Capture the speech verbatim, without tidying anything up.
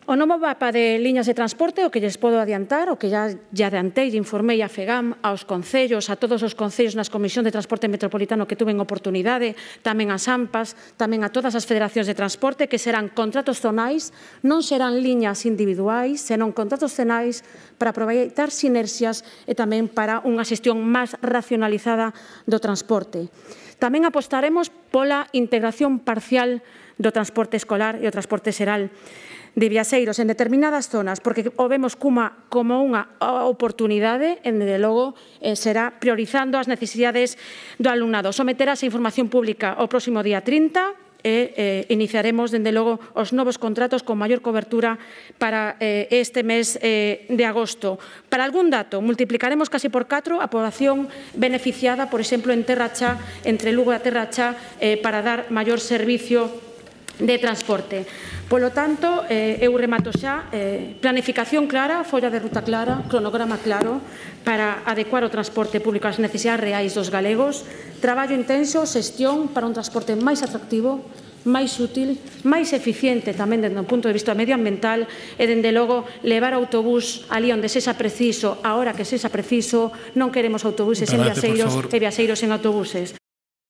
O novo mapa de liñas de transporte, o que lles podo adiantar, o que ya, ya adiantei e informei a FEGAM, aos concellos, a todos os concellos nas Comisións de Transporte Metropolitano que tuven oportunidade, tamén as AMPAs, tamén a todas as federacións de transporte, que serán contratos zonais, non serán liñas individuais, serán contratos zonais para aproveitar sinerxias e tamén para unha xestión máis racionalizada do transporte. Tamén apostaremos pola integración parcial do transporte escolar e o transporte xeral de viaxeiros en determinadas zonas, porque o vemos como unha oportunidade, e, desde logo, será priorizando as necesidades do alumnado. Someterase a información pública o próximo día trinta e iniciaremos, desde logo, os novos contratos con maior cobertura para este mes de agosto. Para algún dato, multiplicaremos casi por catro a poboación beneficiada, por exemplo, en Terra Chá, entre Lugo e a Terra Chá, para dar maior servicio de transporte. Polo tanto, eu remato xa, planificación clara, folla de ruta clara, cronograma claro para adecuar o transporte público ás necesidades reais dos galegos, traballo intenso, xestión para un transporte máis atractivo, máis útil, máis eficiente tamén desde o punto de vista medioambiental e, dende logo, levar o autobús ali onde sexa preciso, a hora que sexa preciso. Non queremos autobuses en viaxeiros e viaxeiros en autobuses.